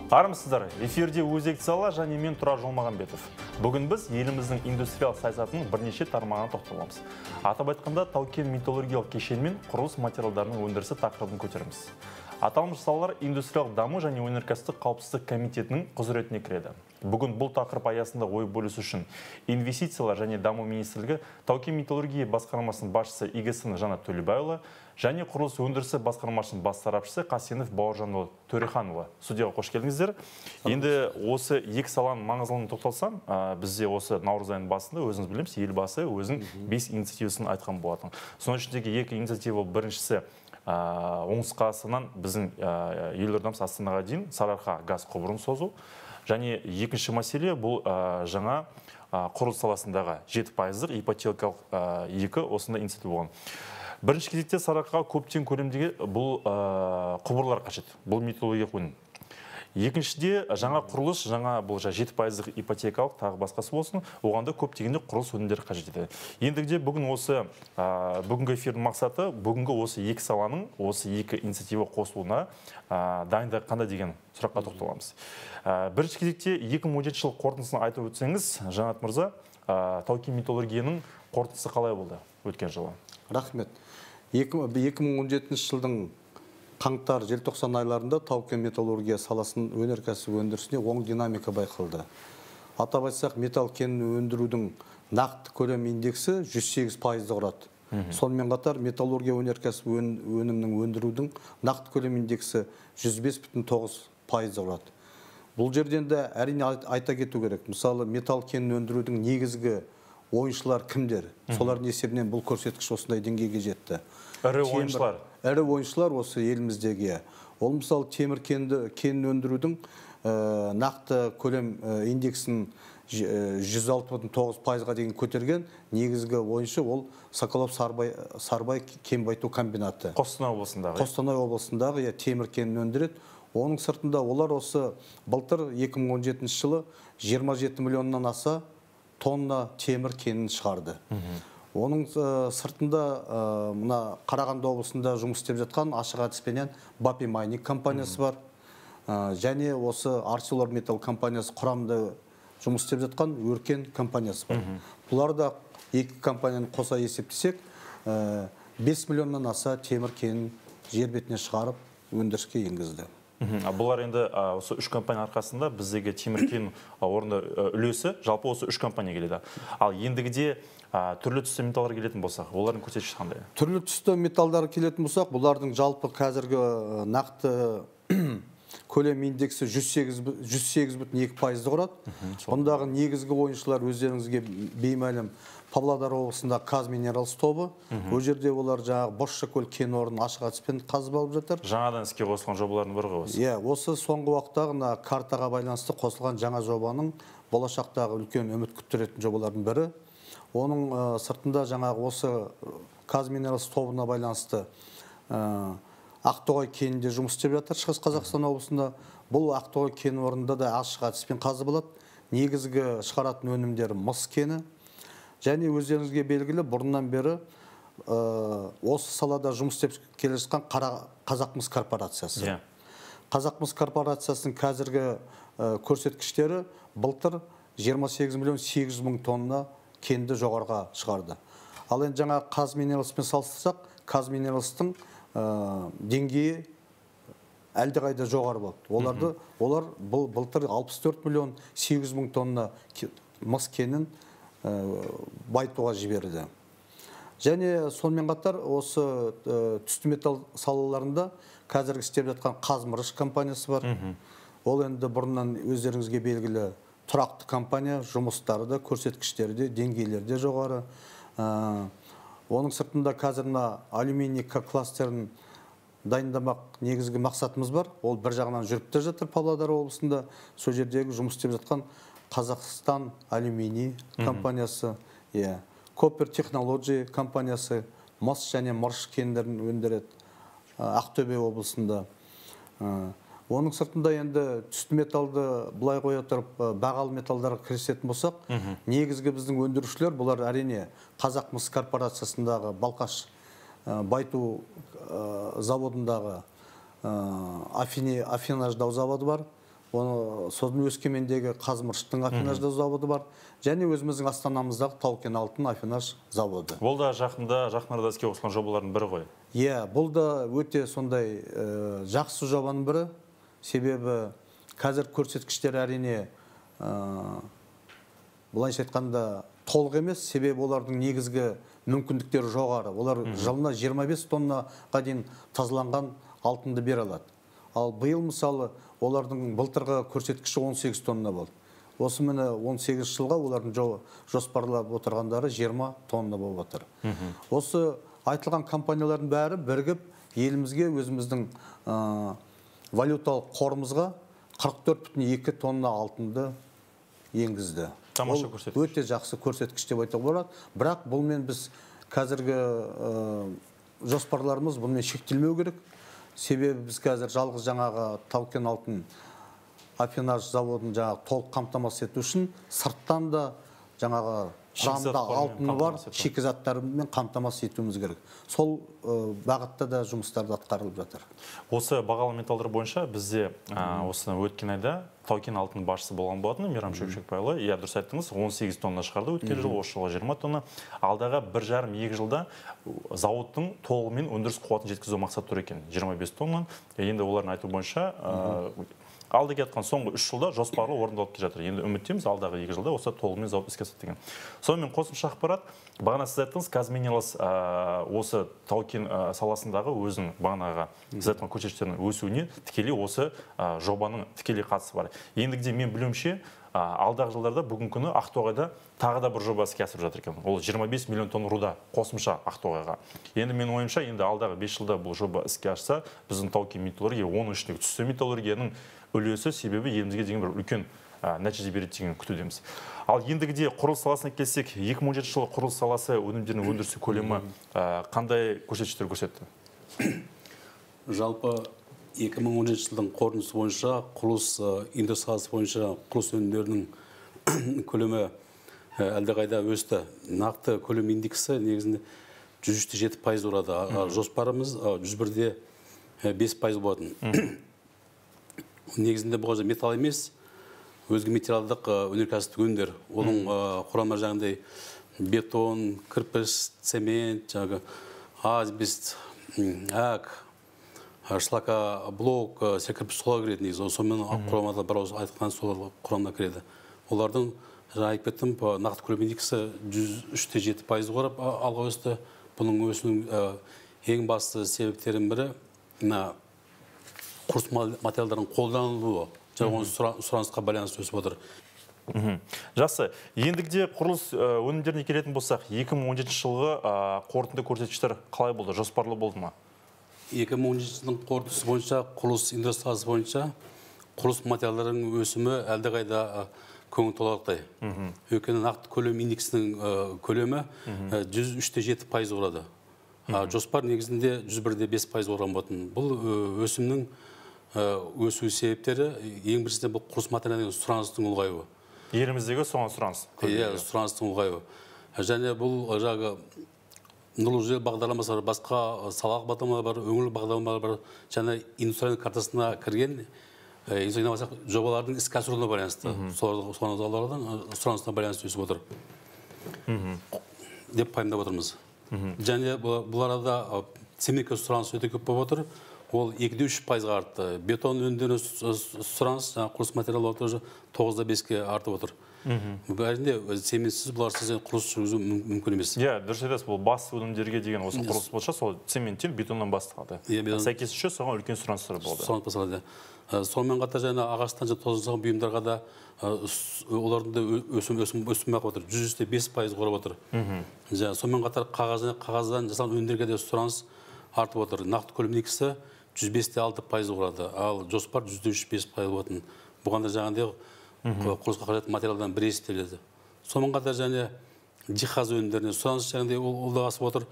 Армысыздар, эфирде өзекті сала және мен Тұрар Жолмағанбетов. Бүгін біз еліміздің индустриялық саясатының бірнеше тармағына тоқталамыз. Атап айтқанда тау-кен металлургиялық кешен мен құрылыс материалдарының өндірісі тақырыбын көтереміз. Аталмыш салалар индустриялық даму және өнеркәсіптік қауіпсіздік комитетінің құзыретіне кіреді. Бүгін бұл тақырып аясында ой бөлісу үшін инвестициялар және даму министрлігі тау-кен металлургия басқармасының басшысы Игесін Жанат Төлебайұлы және құрылыс өндірісі басқармасының бас сарапшысы Қасенов Бауыржанұлы Төреханұлы студияға қош келдіңіздер. Енді осы екі саланың маңыздылығына тоқталсам, бізде осы наурыз айының басында өзіңіз білеміз, елбасы өзінің 5 инициативасын айтқан болатын. Соның ішіндегі екі инициатива біріншісі оңтүстік қазақстаннан біздің елордамыз Астанаға дейін Сарыарқа газ құбырын созу. Және екінші мәселе бұл жаңа құрылыс саласындағы 7% ипотекалық екі осындай инициатива болған. Бірінші кезекте Сарыарқаға көптен көлемдегі бұл құбырлар қажет. Бұл металлургиялық өнім. Екіншіде жаңа құрылыс, жаңа бұл 7% ипотекалық тағы басқасы болсын, оғанда көптегенде құрылыс өнімдері қажет етеді. Ендігіде бүгін осы бүгінгі эфирдің мақсаты бүгінгі осы екі саланың осы екі инициатива қосылуына дайындық қандай деген сұраққа тоқталамыз. Бірінші кезекте 2017 жыл қорытындысын айтып өтсеңіз, Жанат мырза, тау-кен металлургияның қорытындысы қалай болды өткен жылы? Рахмет. 2017 жылдың қаңтар-желтоқсан айларында тау-кен металлургия саласының өнеркәсіп өндірісіне оң динамика байқалды. Атап айтсақ, металл кенін өндірудің нақты көлем индексі 108%-ды құрады. Сонымен қатар металлургия өнеркәсіп өнімінің өндірудің нақты көлем индексі 105,9%-ды құрады. Бұл жерден де әрине айта кету керек. Мысалы, металл кенін өндірудің негізгі ойыншылар кімдер? Солардың есебінен бұл көрсеткіш осындай деңгейге жетті. Ірі ойыншылар осы еліміздегі. Ол мысалы темір кенін өндірудің нақты көлем индексін 106,9%-ға дейін көтерген негізгі ойыншы ол Соколов-Сарыбай кен байыту комбинаты. Қостанай облысындағы темір кенін өндіреді. Оның сыртында олар осы былтыр 2017 жылы 27 миллионнан аса тонна темір кенін шығарды. Оның сыртында мына Қарағанды облысында жұмыс істеп жатқан ашық әдіспенен Бапи Майник компаниясы бар. Және осы ArcelorMittal компаниясы құрамында жұмыс істеп жатқан Өркен компаниясы бар. Бұлар да екі компанияны қоса есептесек, 5 миллионнан аса темір кенін жер бетіне шығарып өндіріске енгізді. Бұлар енді осы үш компания арқасында біздегі темір кен орында үлесі жалпы осы үш компания келеді. Ал ендігіде түрлі түсті металлар келетін болсақ, олардың көрсеткіші қандай? Түрлі түсті металлдар келетін болсақ, бұлардың жалпы қазіргі нақты көлем индексі 108,2%-ды құрады. Ондағы негізгі ойыншылар өздеріңізге беймәлім Павлодар облысында Казминералс тобы. Ол жерде олар жаңағы Бозшакөл кен орнын ашық әдіспен қазып алып жатыр. Жаңадан іске қосылған жобалардың бірі ғой осы. Осы соңғы уақыттағы картаға байланысты қосылған жаңа жобаның болашақтағы үлкен үміт күттіретін жобалардың бірі. Оның сыртында жаңағы осы Казминералс тобына байланысты Ақтоғай кенінде жұмыс істеп жатыр Шығыс Қазақстан облысында. Бұл Ақтоғай кен орнында да ашық әдіспен қазып алады. Негізгі шығаратын өнімдері мыс кені. Және өздеріңізге белгілі бұрыннан бері осы салада жұмыс істеп келе жатқан Қазақмыс корпорациясы. Қазақмыс корпорациясының қазіргі көрсеткіштері былтыр 28 миллион 800 мың тонна кенді жоғарға шығарды. Ал енді жаңа Казминералспен салыстырсақ, Казминералстың деңгейі әлдеқайда жоғары болды. Олар былтыр 64 миллион 800 мың тонна мыс кенін байытуға жіберді. Және сонымен қатар осы түсті металл салаларында қазіргі істеп жатқан Қазмырыш компаниясы бар. Ол енді бұрыннан өздеріңізге белгілі тұрақты компания, жұмыстары да, көрсеткіштері де, деңгейлері де жоғары. Оның сыртында қазіргі алюминий кластерін дайындамақ негізгі мақсатымыз бар. Ол бір жағынан жүріп те жатыр Павлодар облысында. Сол жердегі жұмыс істеп жатқан Қазақстан алюминий компаниясы, Copper Technology компаниясы, мыс және мырыш кендерін өндіреді Ақтөбе облысында. Оның сыртында енді түсті металлды бұлай қоя тұрып бағалы металлдарға кірісетін болсақ, негізгі біздің өндірушілер бұлар әрине Қазақмыс корпорациясындағы Балқаш байыту заводындағы афинаждау заводы бар. Оны сосын Өскемендегі Қазмырыштың афинажды заводы бар. Және өзіміздің Астанамыздағы Тау-кен алтын афинаж заводы. Бұл да жақындарда іске қосылған жобалардың бірі ғой. Иә, бұл да өте сондай жақсы жобаның бірі. Себебі қазір көрсеткіштер әрине былайша айтқанда толық емес, себебі олардың негізгі мүмкіндіктері жоғары. Олар жылына 25 тоннаға дейін тазаланған алтынды бере алады. Ал биыл мысалы олардың былтырғы көрсеткіші 18 тонна болды. Осы міне 18 жылға олардың жоспарлап отырғандары 20 тонна болып отыр. Осы айтылған компаниялардың бәрі бірігіп елімізге өзіміздің валюталық қорымызға 44,2 тонна алтынды енгізді. Тамаша көрсеткіш. Өте жақсы көрсеткіш деп айтуға болады. Бірақ бұлмен біз қазіргі жоспарларымыз бұлмен шектелмеу керек. Себебі біз қазір жалғыз жаңағы Тау-кен алтын афинаж заводын жаңағы толық қамтамасыз ету үшін сырттан да жаңағы құрамында алтыны бар шикізаттармен қамтамасыз етуіміз керек. Сол бағытта да жұмыстарды атқарылып жатыр. Осы бағалы металдар бойынша бізде осы өткен айда Тау-кен алтын басшысы болған болатын Мейрам Шөкшекбайұлы. Иә, дұрыс айттыңыз, 18 тонна шығарды өткен жылы, осы жылы 20 тонна. Алдағы 1,5-2 жылда зауыттың толығымен өндіріс қуатын жеткізу мақсаты тұр екен, 25 тонна. Енді олардың айту бойынша алды кеткен соңғы 3 жылда жоспарлы орындалып келе жатыр. Енді үміттеміз алдағы 2 жылда осы толығымен зауыт іске асады деген. Сонымен қосымша ақпарат, бағана сіз айттыңыз, Казминералс осы Тау-кен саласындағы өзінің бағанаға сіз айтқан көрсеткіштерінің өсуіне тікелей осы жобаның тікелей қатысы бар. Ендігіде мен білуімше, алдағы жылдарда бүгінгі күні Ақтоғайда тағы да бір жоба іске асырып жатыр екен. Ол 25 миллион тонна руда қосымша Ақтоғайға. Енді мен ойымша, енді алдағы 5 жылда бұл жоба іске ашса, біздің Тау-кен металлургия, оның ішіндегі түсті металлургияның үлесі себебі елімізге деген бір үлкен нәтиже береді деген күтудеміз. Ал ендігіде құрылыс саласына келсек, 2017 жылы құрылыс саласы өнімдерінің өндірісі көлемі қандай көрсеткіштер көрсетті? Жалпы 2017 жылдың қорытындысы бойынша құрылыс индустриясы бойынша құрылыс өнімдерінің көлемі әлдеқайда өсті. Нақты көлем индексі негізінде 103,7% құрады. Жоспарымыз 101,5% болатын. Негізінде бұл металл емес, өзге материалдық өнеркәсіптік өнімдер. Оның құрамы жаңағыдай бетон, кірпіш, цемент, асбест, әк, шлакоблок, кірпіш солар кіреді негізі. Сонымен құрамада бір ауыз айтқан сол құрамына кіреді. Олардың айтып кеттім, нақты көлем индексі 103,7% құрап алға өсті. Бұның өсуінің ең басты себептерінің бірі құрылыс материалдардың қолданылуы, және сұранысқа байланысты өсіп отыр. Жақсы, ендігіде құрылыс өнімдеріне келетін болсақ, 2017 жылғы қорытынды көрсеткіштер қалай болды, жоспарлы болды ма? 2017 жылдың қорытындысы бойынша, құрылыс индустриясы бойынша құрылыс материалдарының өсімі әлдеқайда көңіл толарлықтай. Өйткені нақты көлем индексінің көлемі 103,7% құрады. Жоспар негізінде 101,5% құрған болатын. Бұл өсімнің өсу себептері ең біріншіден бұл құрылыс материалының сұраныстың ұлғаюы. Еліміздегі соған сұраныс. Иә, сұраныстың ұлғаюы. Және бұл жағы нұрлы жер бағдарламасы бар, басқа салалық бағдарламалар бар, өңірлік бағдарламалар бар, және индустрияның картасына кірген жобалардың іске асыруына байланысты. Солардың сұранысына байланысты өсіп отыр. Деп пайымдап отырмыз. Және бұл арада цементке сұраныс өте көп болып отыр. Ол 2-3%-ға артты. Бетон өнімдеріне сұраныс, құрылыс материалы 9-5-ке артып отыр. Әрине, цементсіз бұларсыз құрылыс жүргізу мүмкін емес. Иә, дұрыс айтасыз, бұл басты өнімдерге деген осы құрылыс болса, сол цементтен, бетоннан басталады. Сәйкесінше соған үлкен сұраныстар болды. Сұраныс басталады. Сонымен қатар және ағаштан тозған бұйымдарға да олардың да өсім бақып отыр. 105% құрап отыр. Сонымен қатар қағаздан жасалған өнімдерге де сұраныс артып отыр. Нақты көлем индексі 105,6% құрады. Ал жоспар 103,5% болатын. Бұған да жаңағыдай құрылысқа қажетті материалдан бір есептеледі. Сонымен қатар және жиһаз өнімдеріне сұраныс жаңағыдай ол да асып отыр.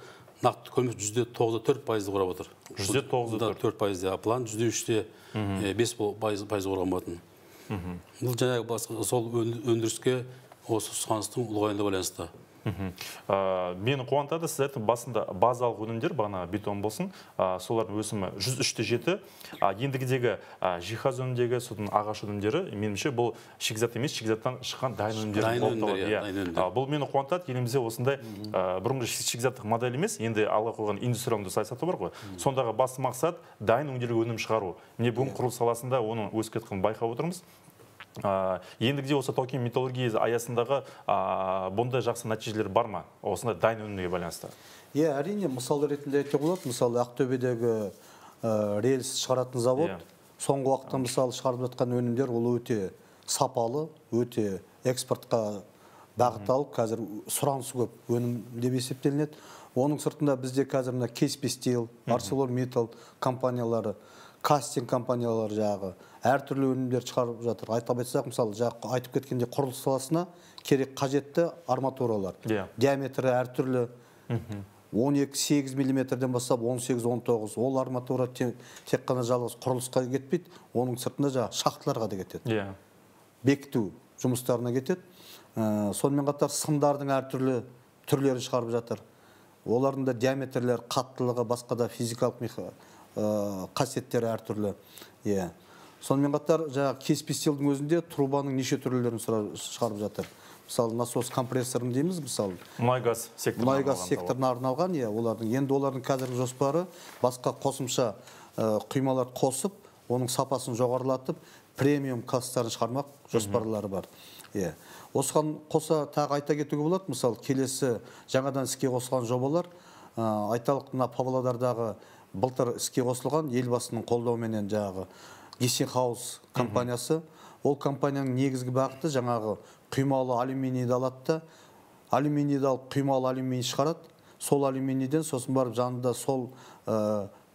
Нақты көлемі 9,4% құрап отыр. 9,4%. План 103,5% құрған болатын. Бұл жаңағы сол өндіріске осы сұраныстың ұлғаюына байланысты. Мені қуантады, сіз айттыңыз басында базалық өнімдер, бағана бетон болсын, солардың өсімі 103-7. Ендігідегі жиһаз өнімдегі, содан ағаш өнімдері, меніңше бұл шикізат емес, шикізаттан шыққан дайын өнімдер болып табылады. Бұл мені қуантады, елімізде осындай бұрынғы шикізаттық модель емес, енді алға қойған индустриалды саясаты бар ғой. Сондағы басты мақсат дайын өңделген өнім шығару. Міне бүгін құрылыс саласында оның өсіп кеткенін байқап отырмыз. Ендігіде осы тау-кен металлургия аясындағы бұндай жақсы нәтижелер бар ма? Осындай дайын өнімге байланысты. Әрине, мысал ретінде айтуға болады. Мысалы, Ақтөбедегі рельс шығаратын завод, соңғы уақытта мысалы шығарып жатқан өнімдер ол өте сапалы, өте экспортқа бағытталып, қазір сұранысы көп өнім деп есептелінеді. Оның сыртында бізде қазір Кеспи Стил, ArcelorMittal компаниялары, кастинг компаниялары жағы әртүрлі өнімдер шығарып жатыр. Айтып айтсақ, мысалы, айтып кеткенде құрылыс саласына керек қажетті арматуралар. Диаметрі әртүрлі 12-8 мм-ден бастап 18-19. Ол арматура тек қана жалғыз құрылысқа кетпейді, оның сыртында шахталарға да кетеді. Бекіту жұмыстарына кетеді. Сонымен қатар сымдардың әртүрлі түрлерін шығарып жатыр. Олардың да диаметрлер, қаттылығы, басқа да физикалық қасиеттері әртүрлі. Сонымен қатар Кеспи Стилдің өзінде трубаның неше түрлерін шығарып жатыр. Мысалы, насос компрессорын дейміз, мысалы. Мұнай-газ секторына арналған, енді олардың қазіргі жоспары басқа қосымша құймалар қосып, оның сапасын жоғарылатып, премиум класстарын шығармақ жоспарлары бар. Осыған қоса тағы айта кетуге болады, мысалы, келесі жаңадан іске қосылған жобалар, айталық Павлодардағы былтыр іске қосылған елбасының қолдауыменен жаңағы Гессенхаус компаниясы. Ол компанияның негізгі бағыты жаңағы құймалы алюминийді алады да, алюминийді алып құймалы алюминий шығарады. Сол алюминийден сосын барып жанында сол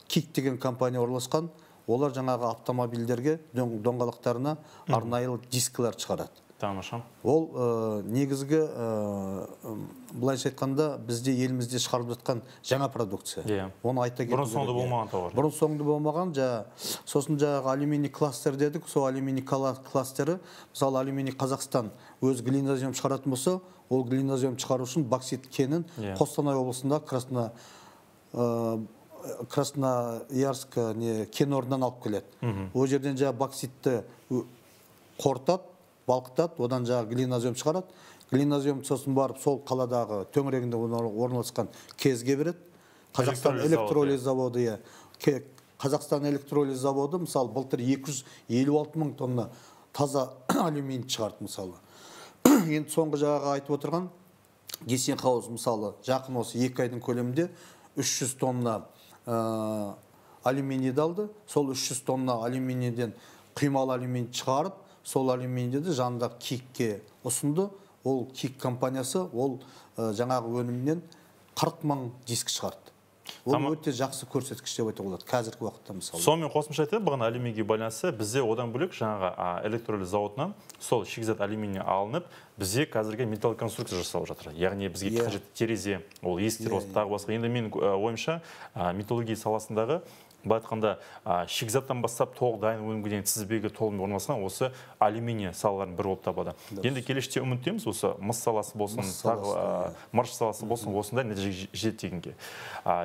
Кик деген компания орналасқан. Олар жаңағы автомобильдерге доңғалақтарына арнайы дискілер шығарады. Тамаша. Ол негізгі былайша айтқанда бізде елімізде шығарып жатқан жаңа продукция. Оны айта кету керек. Бұрын-соңды болмаған тауар. Бұрын-соңды болмаған. Сосын жаңағы алюминий кластер дедік. Сол алюминий кластері, мысалы алюминий Қазақстан өз глинозем шығаратын болса, ол глинозем шығару үшін боксит кенін Қостанай облысында Красноярск кен орнынан алып келеді. Ол жерден бокситті қорытады, балқытады, одан глинозем шығарады. Глинозем сосын барып сол қаладағы төңірегінде орналасқан кезге береді. Қазақстан электролиз заводы, Қазақстан электролиз заводы, мысалы, былтыр 256 мың тонна таза алюминий шығарды, мысалы. Енді соңғы айтып отырған Гессенхаус, мысалы, жақын осы 2 айдың көлемінде 300 тонна алюминийді алды. Сол 300 тонна алюминийден құймалы алюминий шығарып, сол алюминийді жанында Кикке ұсынды. Ол Кик компаниясы ол жаңағы өнімнен 40 мың диск шығарды. Ол өте жақсы көрсеткіш деп айтуға болады қазіргі уақытта, мысалы. Сонымен қосымша айтайын, бағана алюминийге байланысты бізде одан бөлек жаңағы электролиз заводынан сол шикізат алюминий алынып, бізде қазіргі металл конструкция жасалып жатыр. Яғни бізге қажетті терезе, ол есіктер, тағы басқа. Енді мен ойымша металлургия саласындағы былай айтқанда шикізаттан бастап толық дайын өнімге дейін тізбегі толығымен орналасқан осы алюминий салалардың бірі болып табылады. Енді келешекте үміттеміз, осы мыс саласы болсын, мырыш саласы болсын, осындай нәтижеге жетеді дегенге.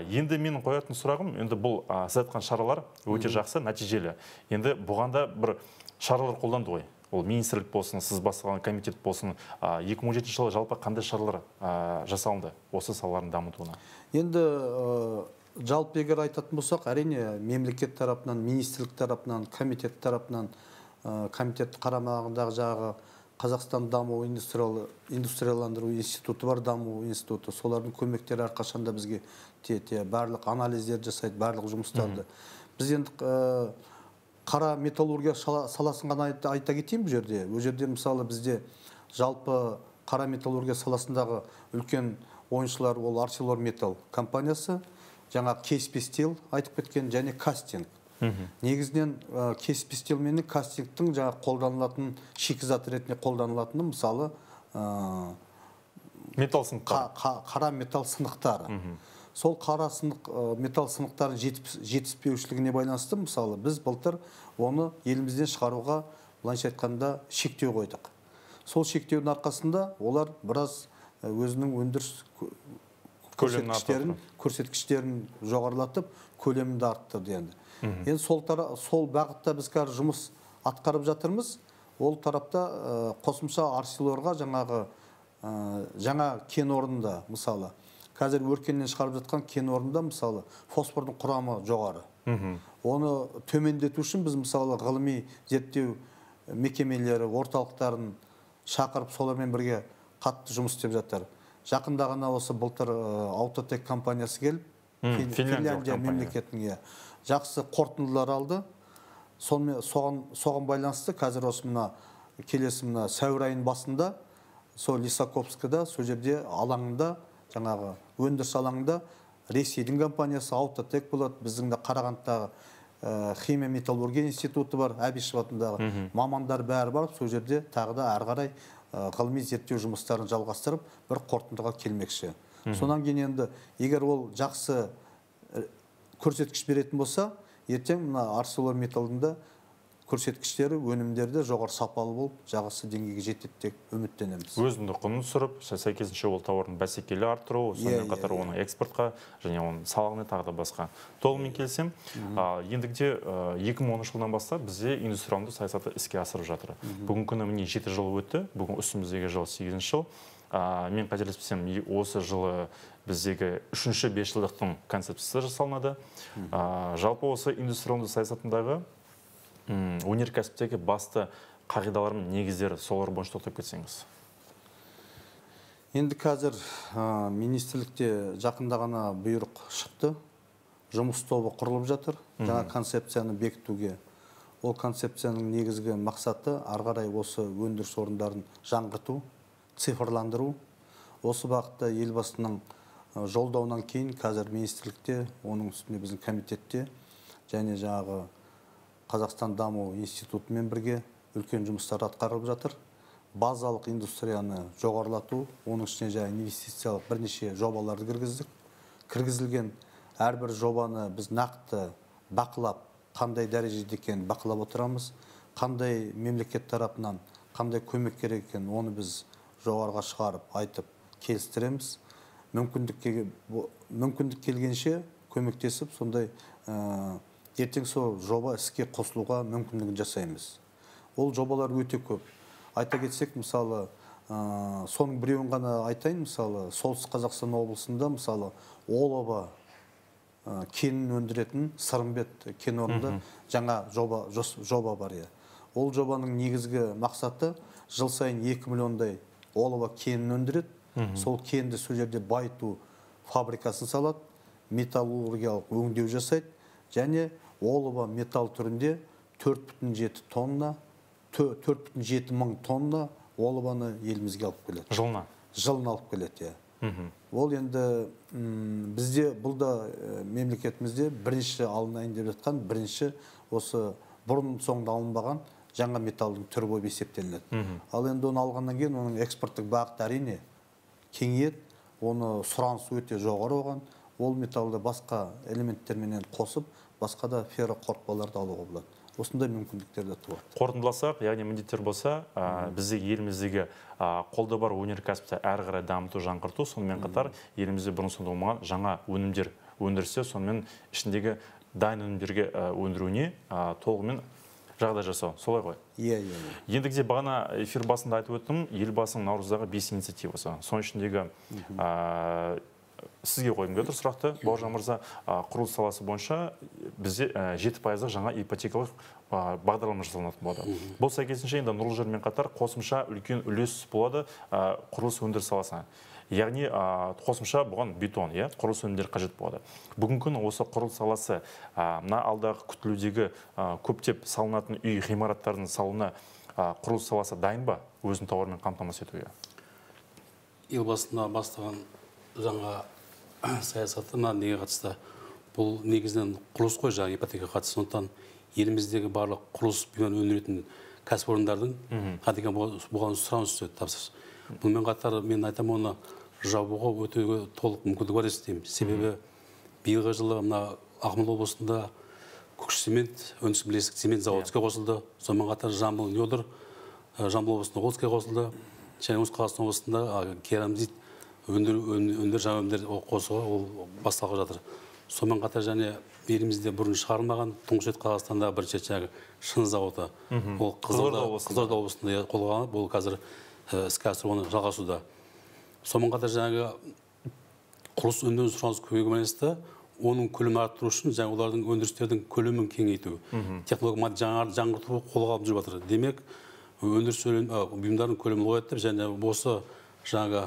Енді менің қоятын сұрағым, енді бұл сіз айтқан шаралар өте жақсы, нәтижелі. Енді бұғанда бір шаралар қолданды ғой. Ол министрлік болсын, сіз бастаған комитет болсын, 2017 жылы жалпы қандай шаралар жасалынды осы салалардың дамытуына? Енді жалпы егер айтатын болсақ, әрине мемлекет тарапынан, министрлік тарапынан, комитет тарапынан, комитет қарамағындағы жағы Қазақстан даму индустрияландыру институты бар, даму институты. Солардың көмектері әрқашанда бізге барлық анализдер жасайды, барлық жұмыстарды. Біз енді қара металлургия саласын ғана айта кетейін бұл жерде. Бұл жерде мысалы бізде жалпы қара металлургия саласындағы үлкен ойыншылар ол ArcelorMittal компаниясы, жаңа Кеспи Стил айтып кеткен, және кастинг. Негізінен Кеспи Стил мен кастингтің жаңа қолданылатын шикізат ретінде қолданылатыны мысалы металл сынықтары. Қара металл сынықтары. Сол қара металл сынықтарын жетіспеушілігіне байланысты мысалы біз былтыр оны елімізден шығаруға былайша айтқанда шектеу қойдық. Сол шектеудің арқасында олар біраз өзінің өндіріс көрсеткіштерін жоғарылатып, көлемді арттырды енді. Енді сол бағытта біз қазір жұмыс атқарып жатырмыз. Ол тарапта қосымша Арселорға жаңа кен орнында, мысалы, қазір өркеннен шығарып жатқан кен орнында, мысалы, фосфордың құрамы жоғары. Оны төмендету үшін біз, мысалы, ғылыми зерттеу мекемелері, орталықтарын шақырып, солармен бірге қатты жұмыс істеп жатыр. Жақында ғана осы былтыр Аутотек компаниясы келіп, Финляндия мемлекетінің жақсы қорытындылар алды. Соған байланысты қазір осы келесі сәуір айының басында сол Лисаковскіда, сол жерде алаңында, жаңағы өндіріс алаңында Ресейдің компаниясы Аутотек болады, біздің де Қарағандыдағы химия металлургия институты бар, Әбішев атындағы мамандар бәрі барып, сол жерде тағы да әрі қарай ғылыми зерттеу жұмыстарын жалғастырып, бір қорытындыға келмекші. Сонан кейін енді, егер ол жақсы көрсеткіш беретін болса, ертең ArcelorMittal'дың да көрсеткіштері, өнімдері жоғары сапалы болып, жағасы деңгейге жетеді деп үміттенеміз. Өзіндік құнын түсіріп, сәйкесінше ол тауардың бәсекелі арттыру, сонымен қатар оның экспортқа және оның салығына тағы да басқа. Толығымен келсем, ендігіде 2013 жылдан бастап бізде индустриалды саясаты іске асырып жатыр. Бүгінгі күні міне 7 жыл өтті, бүгін үстіміздегі жыл 8 жыл. Мен қателеспесем, осы жылы біздегі 3-ші 5 жылдықтың концепциясы жасалынады. Жалпы осы индустриалды саясатындағы өнеркәсіптегі басты қағидалар мен негіздері солар бойынша тоқтап кетсеңіз. Енді қазір министрлікте жақында ғана бұйрық шықты. Жұмыс тобы құрылып жатыр. Жаңа концепцияны бекітуге. Ол концепцияның негізгі мақсаты ары қарай осы өндіріс орындарын жаңғырту, цифрландыру. Осы бағытта елбасының жолдауынан кейін қазір министрлікте, оның үстінде біздің комитетте және жаңағы Қазақстан даму институтымен бірге үлкен жұмыстар атқарылып жатыр. Базалық индустрияны жоғарылату, оның ішіне жаңа инвестициялық бірнеше жобаларды кіргіздік. Кіргізілген әрбір жобаны біз нақты бақылап, қандай дәрежеде екенін бақылап отырамыз. Қандай мемлекет тарапынан қандай көмек керек екенін оны біз жоғарыға шығарып, айтып, келістіреміз. Мүмкіндік келгенше көмектесіп, сондай ертең сол жоба іске қосылуға мүмкіндігін жасаймыз. Ол жобалар өте көп. Айта кетсек, мысалы, соның біреуін ғана айтайын, мысалы, Солтүстік Қазақстан облысында, мысалы, олова кенін өндіретін Сырымбет кен орнында жаңа жоба бар. Ол жобаның негізгі мақсаты жыл сайын 2 миллиондай олова кенін өндіреді. Сол кенді сол жерде байыту фабрикасын салады, металлургиялық өңдеу жасайды, және олова металл түрінде 4,7 тонна, 4,7 мың тонна олованы елімізге алып келеді. Жылына алып келеді. Ол енді бізде, бұл да мемлекетімізде бірінші алынайын деп жатқан, бірінші осы бұрын соңды алынбаған жаңа металлдың түрі болып есептелінеді. Ал енді оны алғаннан кейін оның экспорттық бағыты әрине кеңейеді, оны сұраныс өте жоғары оған. Ол металлды басқа элементтерменен қосып, басқа да ферроқорытпаларды алуға болады. Осындай мүмкіндіктер де туады. Қорытындыласақ, яғни міндеттер болса, бізде еліміздегі қолда бар өнеркәсіпті әрі қарай дамыту, жаңғырту, сонымен қатар елімізде бұрын-соңды болмаған жаңа өнімдер өндірсе, сонымен ішіндегі дайын өнімдерге өндіруіне толығымен жағдай жасау. Солай ғой? Ендігіде бағана эфир басында айтып өттім, елбасының Наурыздағы 5 инициативасы. Соның ішіндегі сізге қойым келді сұрақты, Бауыржан мырза, құрылыс саласы бойынша бізде 7% жаңа ипотекалық бағдарлама жасалынатын болады. Бұл сәйкесінше енді нұрлы жермен қатар қосымша үлкен үлес болады құрылыс өндіріс саласына. Яғни қосымша бұған бетон, құрылыс өнімдері қажет болады. Бүгінгі күні осы құрылыс саласы мына алдағы күтілудегі көптеп салынатын үй ғимараттардың салуына құрылыс саласы дайын ба, өзінің тауармен қамтамасыз етуге? Елбасына бастаған жаңа саясатына неге қатысты? Бұл негізінен құрылыс қой, жаңа ипотека қатысты. Сондықтан еліміздегі барлық құрылыс бұйымдарын өндіретін кәсіпорындардың бұған сұраныс түседі, тапсырыс. Бұнымен қатар мен айтамын, оны жабуға өтеуге толық мүмкіндік бар есептеймін. Себебі биылғы жылы Ақмола облысында Көкшетау өндіріс бірлестік цемент зауыты іске қосылды. Сонымен қатар Жамбыл Нөдір, Жамбыл облысында ол іске қосылды. Және Оңтүстік Қазақстан облысында керамзит өндөр жаңа өнімдер қосуға ол басталып жатыр. Сонымен қатар және елімізде бұрын шығарылмаған тұңғыш рет Қазақстанда бірінші жаңағы шыны зауыты. Ол Қызылорда облысында қолға алынып, ол қазір іске асыру жалғасуда. Сонымен қатар жаңағы құрылыс өнімдерінің сұранысы көбеюге байланысты оның көлемін арттыру үшін жаңа олардың өндірістердің көлемін кеңейту, технология жаңғырту қолға алып жүріп жатыр. Демек, өндіріс бұйымдарының көлемін ұлғайтып, және осы жаңағы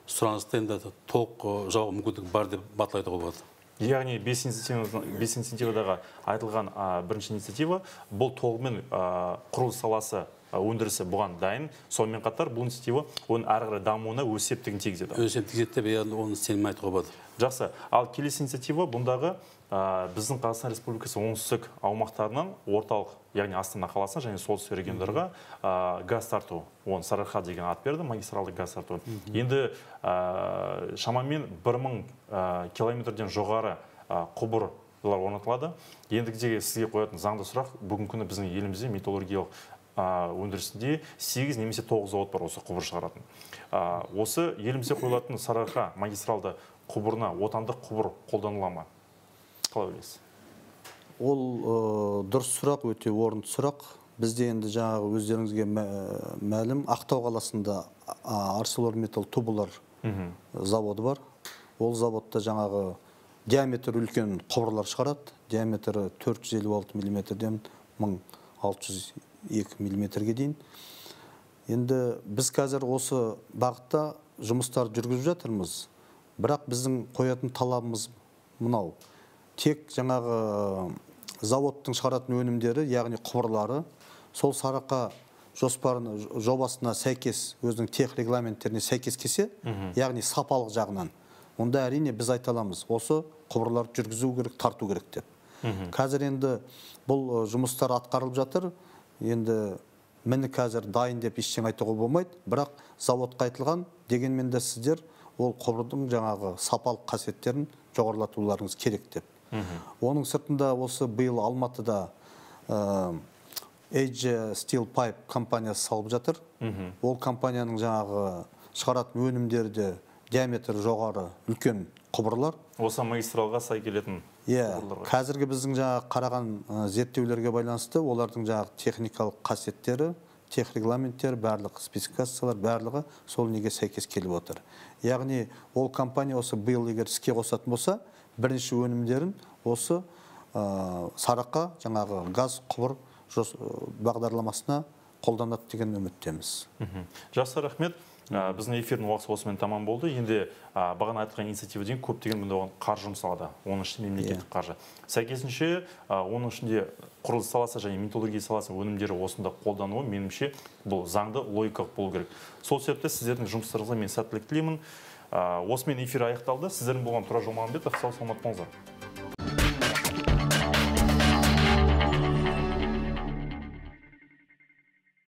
сұранысты енді толық жауға мүмкіндік бар деп батыл болады. Яғни 5 инициативадағы айтылған бірінші инициатива бұл толығымен құрылыс саласы өндірісі бұған дайын. Сонымен қатар бұл инициатива оның әрі қарай дамуына өз септігін тигізеді. Өз септігін тигізеді деп оны сенім айтуға болады. Жақсы. Ал келесі инициатива бұндағы біздің Қазақстан Республикасы оңтүстік аумақтарынан орталық, яғни Астана қаласына және солтүстік региондарға газ тарту. Оны Сарыарқа деген ат берді, магистралды газ тарту. Енді шамамен 1000 километрден жоғары құбырлар орнатылады. Ендігідегі сізге қоятын заңды сұрақ, бүгінгі күні біздің елімізде металлургиялық өндірісінде 8 немесе 9 завод бар осы құбыр шығаратын. Осы елімізде қойылатын Сарыарқа магистралды құбырына отандық құбыр қолданыла ма? Қалай ойлайсыз? Ол дұрыс сұрақ, өте орынды сұрақ. Бізде енді жаңағы өздеріңізге мәлім, Ақтау қаласында ArcelorMittal тубылар заводы бар. Ол заводта жаңағы диаметр үлкен құбырлар шығарады. Диаметрі 456 мм-ден 1602 мм-ге дейін. Енді біз қазір осы бағытта жұмыстар жүргізіп жатырмыз. Бірақ біздің қоятын талабымыз мынау. Тек жаңағы заводтың шығаратын өнімдері, яғни құбырлары, сол Сарыарқа жобасына сәйкес, өзінің тех регламенттеріне сәйкес келсе, яғни сапалық жағынан, онда әрине біз айта аламыз, осы құбырларды жүргізу керек, тарту керек деп. Қазір енді бұл жұмыстар атқарылып жатыр. Енді міне қазір дайын деп ештеңе айтуға болмайды, бірақ заводқа айтылған, дегенмен де сіздер ол құбырдың жаңағы сапалық қасиеттерін жоғарылатуларыңыз керек деп. Оның сыртында осы биыл Алматыда Edge Steel Pipe компаниясы салып жатыр. Ол компанияның жаңағы шығаратын өнімдері де диаметрі жоғары үлкен құбырлар. Осы магистралға сай келетін құбырлар. Қазіргі біздің жаңағы қараған зерттеулерге байланысты олардың жаңағы техникалық қасиеттері, тех регламенттері, барлық спецификациялар, барлығы сол неге сәйкес келіп отыр. Яғни ол компания осы биыл егер іске қосатын болса, бірінші өнімдерін осы Сарыарқа жаңағы газ құбыр бағдарламасына қолданады деген үміттеміз. Жақсы, рахмет. Біздің эфирдің уақыты осымен тамам болды. Енді бағана айтқан инициативаден көптеген бұнда қаржы жұмсалады. Оның ішінде мемлекеттік қаржы. Сәйкесінше, оның ішінде құрылыс саласы және металлургия саласы өнімдері осында қолдануы, меніңше, бұл заңды логикалық болу керек. Сол себепті сіздердің жұмыстарыңызға мен сәттілік тілеймін. Осымен эфир аяқталды. Сіздердің болған Тұрар Жолмағанбетов, сау саламат болыңыздар.